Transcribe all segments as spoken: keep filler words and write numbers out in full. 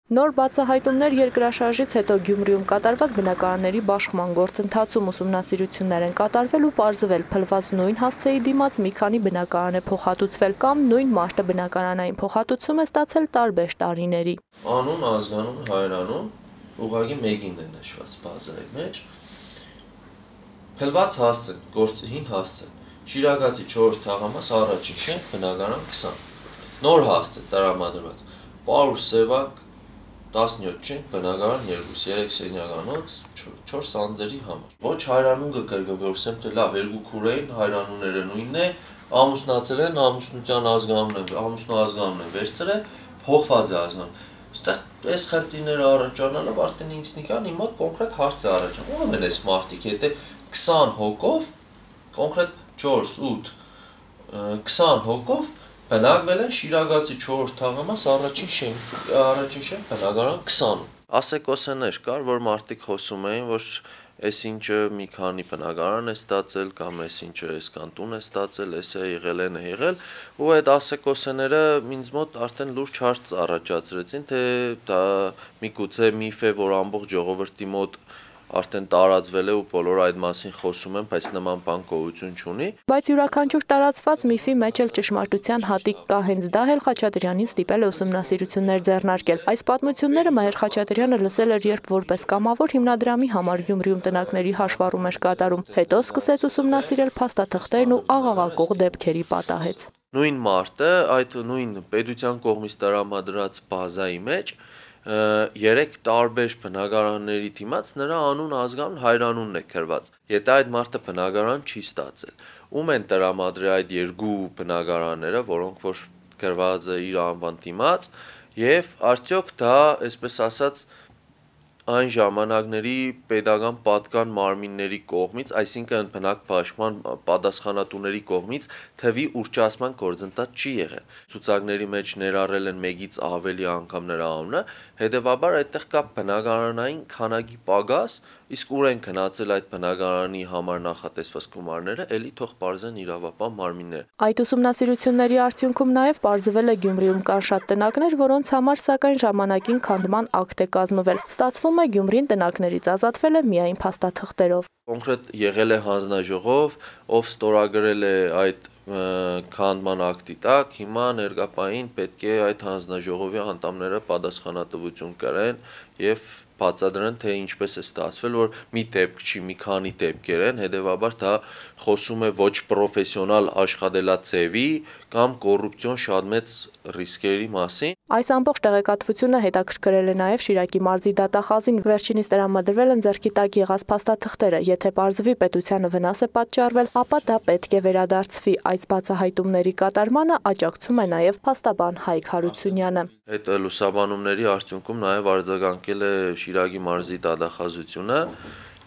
Նոր բացահայտումներ երկրաշարժից հետո Գյումրիում կատարված բնակարանների բաշխման գործընթացում ուսումնասիրություններ են կատարվել ու պարզվել փլված նույն հասցեի դիմաց մի քանի բնակարան է փոխհատուցվել կամ նույն մարտը բնակարանային փոխհատուցում է ստացել տարբեր տարիների։ Անուն, ազգանուն, հայրանուն ուղղակի մեկին է նշված բազայի մեջ։ Փլված հասցեն, գործի հին հասցեն, Շիրակացի չորրորդ թաղամաս առաջին շենք բնակարան քսան։ Նոր հասցե տրամադրված, Պարուր Սևակ տասնյոթ շենք բնակարան երկու, երեք սենյականոց, չորս անձերի համար։ Ոչ հայրանուն կկրկնվորսեմ, թե լավ երկու քուրեին հայրանունները նույնն է, ամուսնացել են, ամուսնության ազգանունն են, ամուսնու ազգանունն են վերցրել, փոխված է ազգանուն։ Ստեղ այս խնդիրները առաջանալով արդեն ինքնիկան իմ մոտ կոնկրետ հարց է առաջանում։ Ո՞վ են այս մարդիկ, եթե քսան հոգով, կոնկրետ չորս, ութ, քսան հոգով բնակվել են Շիրակացի չորրորդ թաղամաս առաջին շենք, առաջին շենք բնակարան քսանում։ Ասեկոսեներ կար, որ մարդիկ խոսում էին, որ այս ինչը մի քանի բնակարան է ստացել կամ այս ինչը այսքան տուն է ստացել, այս է եղել, այն է եղել, ու այդ ասեկոսեները ինձ մոտ արդեն լուրջ հարց առաջացրեցին, թե դա միգուցե միֆ է, որ ամբողջ ժողովրդի մոտ արդեն տարածվել է ու բոլորը այդ մասին խոսում են, բայց նման բան գոյություն չունի։ Բայց յուրաքանչյուր տարածված միֆի մեջ էլ ճշմարտության հատիկ կա, հենց դա էլ Խաչատրյանին ստիպել է ուսումնասիրություններ ձեռնարկել։ Այս պատմությունները Մհեր Խաչատրյանը լսել էր, երբ որպես կամավոր հիմնադրամի համար Գյումրիում տնակների հաշվառում էր կատարում, հետո սկսեց ուսումնասիրել փաստաթղթերն ու աղաղակող դեպքերի պատահեց։ Նույն մարտը, այդ նույն պետության կողմից տրամադրած բազայի մեջ երեք տարբեր բնակարանների դիմաց նրա անուն ազգանուն հայրանունն է գրված։ Եթե այդ մարդը բնակարան չի ստացել, ում են տրամադրել այդ երկու բնակարանները, որոնք որ գրված է իր անվան դիմաց, եւ արդյոք դա, այսպես ասած, այն ժամանակների պետական պատկան մարմինների կողմից, այսինքն բնակ պաշտպան պատասխանատուների կողմից թվի ուռճացման գործընթաց չի եղել։ Ցուցակների մեջ ներառել են մեկից ավելի անգամ նրա անունը, հետևաբար այդտեղ կա բնակարանային քանակի պակաս, իսկ ուր են գնացել այդ բնակարանի համար նախատեսված գումարները, ելի թող պարզեն իրավապահ մարմինները։ Այդ ուսումնասիրությունների արդյունքում նաև պարզվել է Գյումրիում կան շատ տնակներ, որոնց համար սակայն ժամանակին քանդման ակտ է կազմվել։ Ստացվում է Գյումրին տնակներից ազատվել է միայն փաստաթղթերով։ Կոնկրետ եղել է հանձնաժողով, ով ստորագրել է այդ քանդման ակտի տակ, հիմա ներկապային պետք է այդ հանձնաժողովի անդամները պատասխանատվություն կրեն եւ բացատրեն, թե ինչպես է ստացվել, որ մի դեպք չի, մի քանի դեպքեր են, հետևաբար դա խոսում է ոչ պրոֆեսիոնալ աշխատելաձևի կամ կոռուպցիոն շատ մեծ ռիսկերի մասին։ Այս ամբողջ տեղեկատվությունը հետաքրքրել է նաև Շիրակի մարզի դատախազին, վերջինիս տրամադրվել են ձեռքի տակ եղած փաստաթղթերը, եթե պարզվի պետությանը վնաս է պատճառվել, ապա դա պետք է վերադարձվի։ Այս բացահայտումների կատարմանը աջակցում է նաև փաստաբան Հայկ Հարությունյանը։ Այդ լուսաբանումների արդյունքում նաև արձագանքել է Շիրակի մարզի դատախազությունը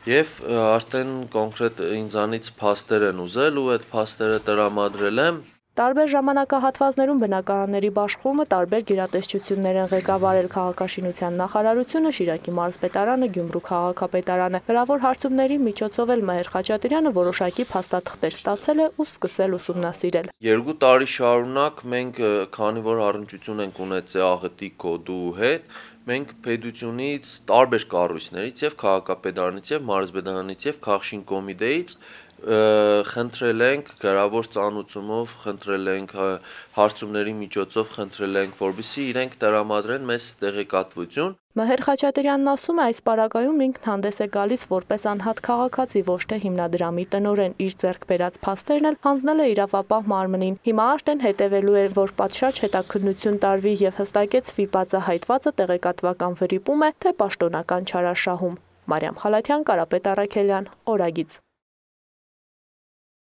եւ արդեն կոնկրետ ինձանից փաստեր են ուզել ու այդ փաստերը տրամադրել եմ։ Տարբեր ժամանակահատվածներում բնակարանների բաշխումը տարբեր գերատեսչություններ են ղեկավարել քաղաքաշինության նախարարությունը, Շիրակի մարզպետարանը, Գյումրու քաղաքապետարանը։ Հրավոր հարցումների միջոցով էլ Մհեր Խաչատրյանը որոշակի փաստաթղթեր ստացել է ու սկսել ուսումնասիրել։ Երկու տարի շարունակ մենք, քանի որ առնչություն ենք ունեցել աղետի կոդու հետ, մենք պետությունից տարբեր կառույցներից եւ քաղաքապետարանից եւ մարզպետարանից եւ քաղաքաշին կոմիտեից խնդրել ենք գրավոր ծանուցումով, խնդրել ենք հարցումների միջոցով, խնդրել ենք, որպեսզի իրենք տրամադրեն մեզ տեղեկատվություն։ Մհեր Խաչատրյանն ասում է, այս պարագայում ինքն հանդես է գալիս որպես անհատ քաղաքացի, ոչ թե հիմնադրամի տնօրեն, իր ձեռք բերած փաստերն էլ հանձնել է իրավապահ մարմնին։ Հիմա արդեն հետևելու է, որ պատշաճ հետաքննություն տարվի եւ հստակեցվի բացահայտվածը տեղեկատվական վրիպում է, թե պաշտոնական չարաշահում։ Մարիամ Խալաթյան, Կարապետ Առաքելյան, Օրագիծ։